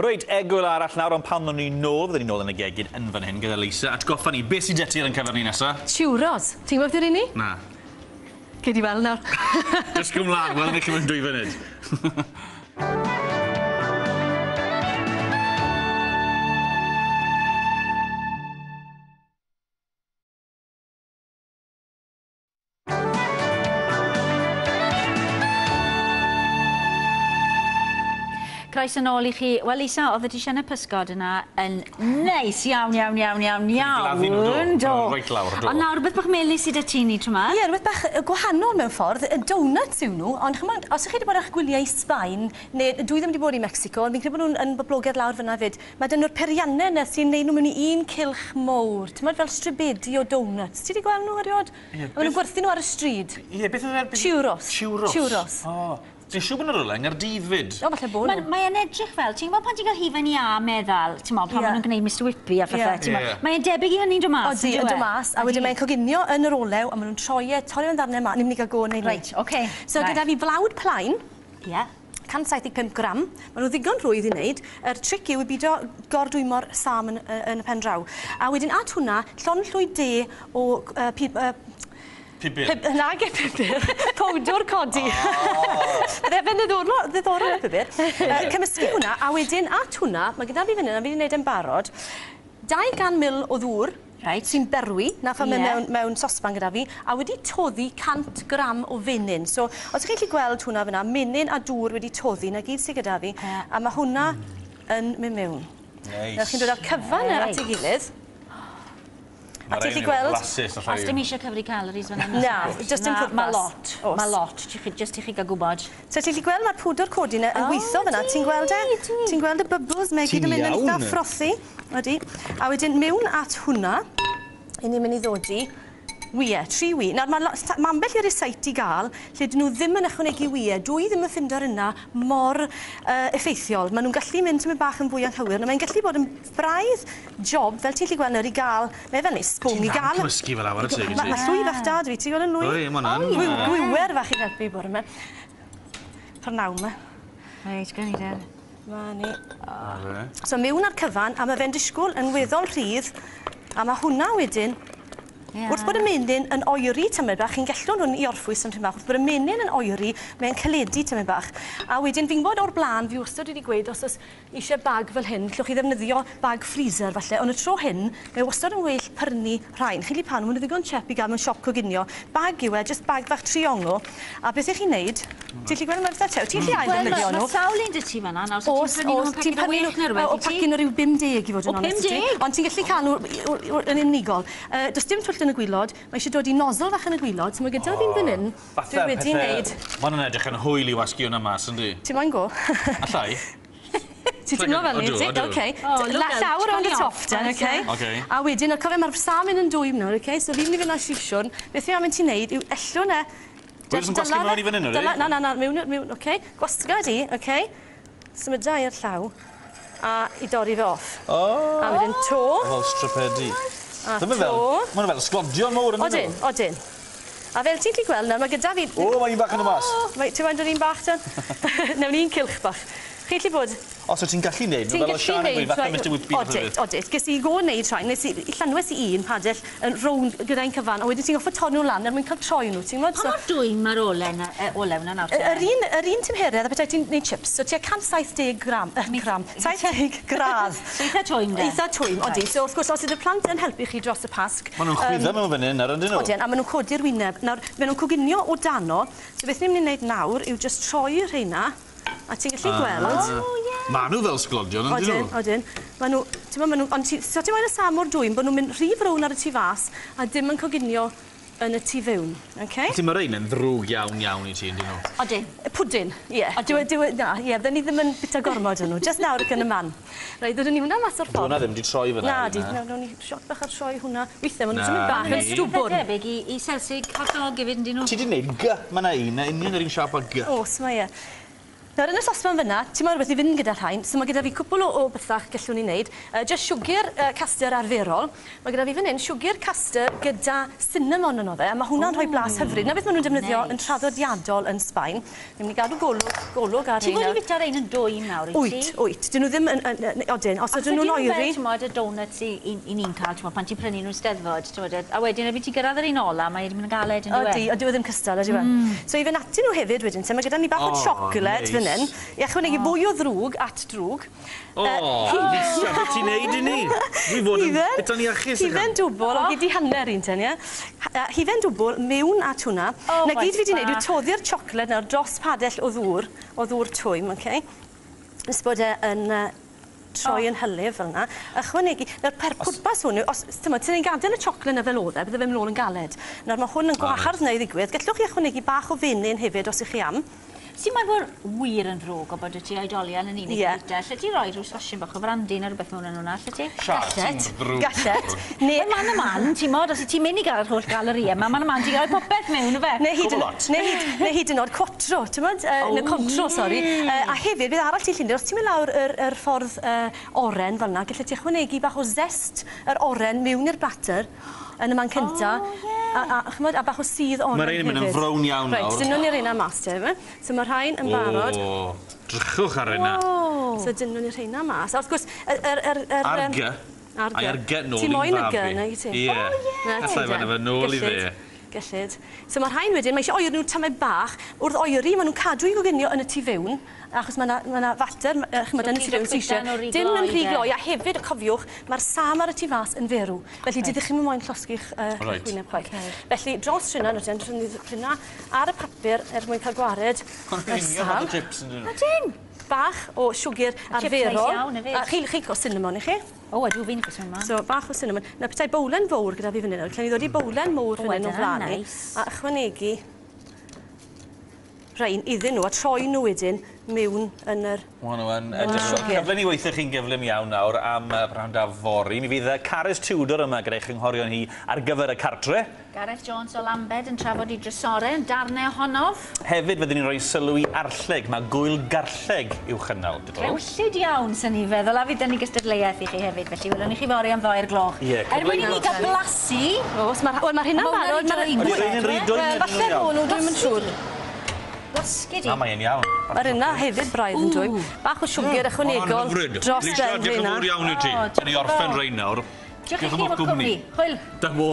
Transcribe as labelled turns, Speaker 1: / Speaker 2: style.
Speaker 1: Reit, egwyl arall nawr, ond pan o'n ni nôl, fydden ni nôl yn y gegin yn fan hyn gyda Lisa. Atgoffa ni, beth sydd 'da ti ar ein cyfer ni nesa?
Speaker 2: Churros. Ti'n gwybod beth yw'r un ni?
Speaker 1: Na.
Speaker 2: Gei di weld nawr.
Speaker 1: Dysgu mlaen, welwn ni chi mewn 2 funud.
Speaker 3: Croeso nôl i chi. Wel Lisa, oedd y disiynau pysgod yna yn neis iawn, iawn, iawn, iawn, iawn.
Speaker 1: Do. Reit lawr, do.
Speaker 3: Ond nawr, rhywbeth bach melys sydd 'da ti ni tro 'ma?
Speaker 2: Ie, rhywbeth bach gwahanol mewn ffordd. Donuts yw nhw, ond chimod, os ych chi wedi bod ar eich gwyliau i Sbaen, neu dwi ddim wedi bod i Mexico, ond fi'n credu bod nhw'n yn boblogaidd lawr fan'na 'fyd, mae 'da nhw'r peiriannau 'na sy'n neud nhw mewn i un cylch mowr, timod, fel stribedi o donuts. Ti 'di gweld nhw erioed? Ie. Maen nhw'n gwerthu nhw ar y stryd.
Speaker 1: Ie, beth oedd e?
Speaker 2: Churros.
Speaker 1: Churros.
Speaker 2: Churros.
Speaker 1: O. Dwi'n siŵr bod 'na rywle yng Nghaerdydd 'fyd.
Speaker 2: O, falle bod nhw.
Speaker 3: Mae e'n edrych fel, ti'n gwybod pan ti'n cael hufen iâ meddal, ti'n gwybod, pan maen nhw'n gwneud Mr Whippy a phethau, ti'n gwybod. Mae e'n debyg i hynny'n dod mas,
Speaker 2: Odi, yn dod mas, a wedyn mae'n coginio yn yr olew, a maen nhw'n troi e, torri fe'n ddarnau 'ma, ni'n mynd i gael go yn neud
Speaker 3: Reit, oce.
Speaker 2: So gyda fi flawd plaen.
Speaker 3: Ie.
Speaker 2: 175 gram. Maen nhw ddigon rhwydd i wneud. Yr tric yw i bido gordwymo'r sâm yn, yn y pen draw. A wedyn at hwnna, llond llwy de o
Speaker 1: Pupur.
Speaker 2: Nage pupur. Powdwr codi. Bydde fe'n ddiddorol, ddiddorol y pupur. Cymysgu hwnna, a wedyn at hwnna, mae gyda fi fan hyn, a fi wedi gwneud e'n barod, 200 ml o ddŵr.
Speaker 3: Reit.
Speaker 2: Sy'n berwi, na phan mae mewn sosban gyda fi, a wedi toddi 100 gram o fenyn. So, os ych chi'n gallu gweld hwnna fyna, menyn a dŵr wedi toddi, na gyd sydd gyda fi, a mae hwnna yn mynd mewn.
Speaker 1: Neis.
Speaker 2: Nawr chi'n dod â'r cyfan at ei gilydd. A ti'n gallu gweld...
Speaker 3: Os dim eisiau cyfri calories fan hyn.
Speaker 2: Na, just dim pwrpas.
Speaker 3: Mae lot, mae lot, just i chi gael gwybod.
Speaker 2: So ti'n gallu gweld mae'r pwdwr codi yna yn gweithio fyna, ti'n gweld e? Ti'n gweld y bubbles, mae gyd yn mynd yn eitha frothy. Odi. A wedyn mewn at hwnna, i ni'n mynd i ddodi wyau, 3 wy. Nawr mae ambell i rysait i gael lle dyn nhw ddim yn ychwanegu wyau. Dwi ddim yn ffindo'r yna mor effeithiol. Maen nhw'n gallu mynd tymed bach yn fwy anghywir. Nawr mae'n gallu bod yn braidd job, fel ti'n gallu gweld nawr, i gael, mae fel neu sbwng i gael...
Speaker 1: Ti'n cymysgu fel awr y teg,
Speaker 2: Mae llwy fach da dwi, ti'n gweld yn lwy?
Speaker 1: Oi, mae hwnna'n...
Speaker 2: Gwiwer fach i helpu bore yma. Prynhawn yma.
Speaker 3: Reit, gawn ni de.
Speaker 2: Ma ni. So mewn ar cyfan, a mae fe'n disgwyl yn weddol rhydd, a mae hwnna wedyn, wrth bod y menyn yn oeri tymed bach, chi'n gellwn hwn i orffwys am tipyn bach, wrth bod y menyn yn oeri, mae'n caledu tymed bach. A wedyn fi'n gwybod o'r blaen, fi wastad wedi gweud, os oes eisiau bag fel hyn, llwch chi ddefnyddio bag freezer falle, ond y tro hyn, mae wastad yn well prynu rhain. Chi'n gallu pan, maen nhw ddigon chep i gael mewn siop coginio. Bag yw e, jyst bag fach triongl. A beth ych chi'n neud? Ti'n gallu gweld mae'n eitha tew? Ti'n gallu ail ddefnyddio nhw?
Speaker 3: Mae sawl un 'da ti fan'na nawr, so ti'n prynu nhw mewn paced o 6 neu rhywbeth,
Speaker 2: O pacyn o ryw 50 i fod yn onest.
Speaker 3: O 50?
Speaker 2: Ond ti'n gallu cael nhw yn unigol. Does dim twll yn y gwilod, mae eisiau dod i nozzle fach yn y gwilod, so mae gyda fi'n fan hyn, dwi wedi wneud.
Speaker 1: Mae hwnna'n edrych yn hwyl i wasgu hwnna mas, yndi?
Speaker 2: Ti'n moyn go?
Speaker 1: Allai.
Speaker 2: Ti'n teimlo fel ni, ti? Oce. Llaw rownd y top ten, oce? A wedyn, cofio, mae'r salmon yn dwym nawr, oce? So fi'n mynd i fynd â sisiwn. Beth fi am ti wneud yw ellwn e...
Speaker 1: Dwi'n yn gwasgu mewn i fan hyn, ydy?
Speaker 2: Na, na, na, mewn, oce? Gwasga di, oce? Symuda i'r llaw. A i dorri fe off.
Speaker 1: O!
Speaker 2: A wedyn to.
Speaker 1: Fel stripedi.
Speaker 2: A to.
Speaker 1: Mae'n fel sglodion mowr, yn
Speaker 2: Odyn, odyn. A fel ti'n gallu gweld nawr, mae gyda fi...
Speaker 1: O, mae un bach yn y mas.
Speaker 2: Ti'n moyn dod un bach, ten? Newn ni un cylch bach. Chi'n gallu bod...
Speaker 1: O, so ti'n gallu neud nhw fel o Sian yn gweud, fatha Mr Whippy.
Speaker 2: Odit, odit. Ges i go neud rhain, nes i llanwes i un padell yn rownd gyda'n cyfan, a wedyn ti'n gorfod torri nhw lan er mwyn cael troi nhw, ti'n gwybod?
Speaker 3: Pa mor dwym mae'r olew 'na nawr te?
Speaker 2: Yr un tymheredd a petai ti'n neud chips, so tua 170 gram, 70 gradd.
Speaker 3: So eitha twym de?
Speaker 2: Eitha twym, odi. So wrth gwrs, os ydy'r plant yn helpu chi dros y Pasg...
Speaker 1: Maen nhw'n chwyddo mewn fan hyn nawr, yndyn nhw?
Speaker 2: Odyn, a maen nhw'n codi'r wyneb. Nawr, maen nhw'n coginio o dano, so beth ni'n mynd i wneud nawr yw jyst troi rheina. A ti'n gallu gweld...
Speaker 1: Ma' nhw fel sglodion, yndyn nhw?
Speaker 2: Odyn, odyn. Ma' nhw, ti'n ma' nhw, ond so ti'n moyn y sam o'r dwym bod nhw'n mynd rhy frown ar y tu fas a dim yn coginio yn y tu fewn, oce?
Speaker 1: Felly mae rhein yn ddrwg iawn iawn i ti, yndyn nhw?
Speaker 3: Odyn.
Speaker 2: Pwdin, ie. Na, ie, bydden ni ddim yn bita gormod yn nhw, jyst nawr ac yn y man. Reit, ddodwn ni hwnna mas o'r ffordd.
Speaker 1: Hwnna ddim 'di troi fyna.
Speaker 2: Na, di, nawn ni sioc bach ar troi hwnna. Weithiau, maen nhw'n symud bach yn stwbwrn.
Speaker 3: Debyg i selsig hot dog hefyd, yndyn nhw?
Speaker 1: Ti 'di wneud G, ma' 'na un, union yr un siâp â G.
Speaker 2: Oes, mae e. Nawr yn y sosban fyna, ti'n meddwl rhywbeth i fynd gyda rhain, so mae gyda fi cwpl o bethach gallwn ni wneud. Just siwgr castor arferol. Mae gyda fi fan hyn siwgr castor gyda cinnamon yno fe, a mae hwnna'n rhoi blas hyfryd. Na beth maen nhw'n defnyddio yn traddodiadol yn Sbaen. Ni'n mynd i gadw golwg ar
Speaker 3: Ti'n fod i fita rein yn dwym nawr, wyt ti?
Speaker 2: Wyt, wyt. Dyn nhw ddim yn, odyn, os ydyn nhw'n oeri.
Speaker 3: Ti'n modd y donuts i ni'n cael, ti'n modd, pan ti'n prynu nhw'n Steddfod, ti'n modd, a wedyn erbyn ti'n gyrraedd yr un ola, mae'n mynd yn galed yn diwedd.
Speaker 2: Ydy, ydy, ddim cystal, ydy e. So i fynd atyn nhw hefyd wedyn, mae gyda ni bach o siocled fan hyn, i ychwanegu fwy o ddrwg at drwg.
Speaker 1: O, Lisa, beth ti'n neud i ni? Dwi fod yn bita'n iachus.
Speaker 2: Hufen dwbl, o gyd i hanner un ten, ie? Hufen dwbl mewn at hwnna. Na gyd fi wedi neud yw toddi'r siocled nawr dros padell o ddŵr twym, oce? Nes bod e yn troi yn hylif fel yna. Ychwanegu, nawr pwrpas hwn yw, os ti'n gadael y siocled yna fel oedd e, bydde fe'n mynd nôl yn galed. Nawr mae hwn yn gwahardd neu ddigwydd. Gallwch chi ychwanegu bach o fenyn hefyd os ych chi am.
Speaker 3: Ti'n meddwl bod wir yn ddrwg o bod y ti oedolion yn unig yn bwyta? Lle ti roi rhyw sosyn bach o frandi neu rhywbeth mewn yn hwnna, lle ti?
Speaker 2: Gallet, gallet.
Speaker 3: Neu man y man, ti'n modd, os ti'n mynd i gael yr holl galorïau yma, man y man, ti'n rhoi popeth mewn, yfe?
Speaker 2: Neu hyd yn oed quattro, ti'n modd? Neu contro, sori. A hefyd, bydd arall ti'n llunio, os ti'n mynd lawr yr ffordd oren fel yna, gallet ti ychwanegu bach o zest yr oren mewn i'r batter yn y man cynta. A bach o sudd oren hefyd.
Speaker 1: Mae'r ein yn mynd yn frown iawn nawr.
Speaker 2: Reit, dyn nhw'n i'r un mas te, yma. So mae rhain yn barod.
Speaker 1: O, drychwch ar hynna.
Speaker 2: So dyn nhw'n i'r rheina mas. A wrth gwrs,
Speaker 1: Ar gy. Ai ar gy nôl i'n fabi.
Speaker 2: Ti moyn y gy, neu ti?
Speaker 1: Ie. Allai fan efo nôl i fe.
Speaker 2: Gellid. So mae'r rhain wedyn, mae eisiau oeri nhw tamed bach. Wrth oeri, maen nhw'n cadw i goginio yn y tu fewn, achos mae yna fater, chymod, yn y tu fewn sy'n eisiau. Dim yn rhy gloi, a hefyd, cofiwch, mae'r sam ar y tu fas yn ferw. Felly, dydych chi'n moyn llosgi'ch wyneb chwaith. Felly, dros rhywna, rhywna ar y papur er mwyn cael gwared yr sam.
Speaker 3: Ydyn!
Speaker 2: Bach o siwgr arferol. A chi'n cael cinnamon i chi?
Speaker 3: O, ydw fi'n cael cinnamon.
Speaker 2: So, bach o cinnamon. Na, petai bowlen fawr gyda fi fan hyn. Allen ni ddod i bowlen mowr fan hyn o flaen ni. A ychwanegu rhain iddyn nhw a troi nhw wedyn mewn yn yr...
Speaker 1: Wel, nhw yn edrych. Cyfle ni weithio chi'n gyflym iawn nawr am prynhawn da fory. Mi fydd Carys Tudor yma gyda'i chynghorion hi ar gyfer y cartre.
Speaker 3: Gareth Jones o Lambed yn trafod i drysorau yn darnau ohonof.
Speaker 1: Hefyd fyddwn ni'n rhoi sylw i arlleg. Mae gwyl garlleg i'w chynnal.
Speaker 3: Rhewllyd iawn, sy'n ni feddwl, a fydd ni gystadleuaeth i chi hefyd. Felly, welwn ni chi fory am 2:00. Er mwyn i ni gael blasu...
Speaker 2: Oes, mae'r hynna'n barod. Falle rôl nhw, dwi'm yn siŵr.
Speaker 3: Gwasgu di.
Speaker 1: Na, mae'n iawn.
Speaker 2: Mae'r yna hefyd braidd yn dwym. Bach o siwgr ychwanegol dros ben
Speaker 1: Lisa, diolch yn fawr iawn i ti. Dyn ni orffen rhain nawr.
Speaker 3: Diolch i chi am y cwmni. Hwyl.
Speaker 1: Dyma.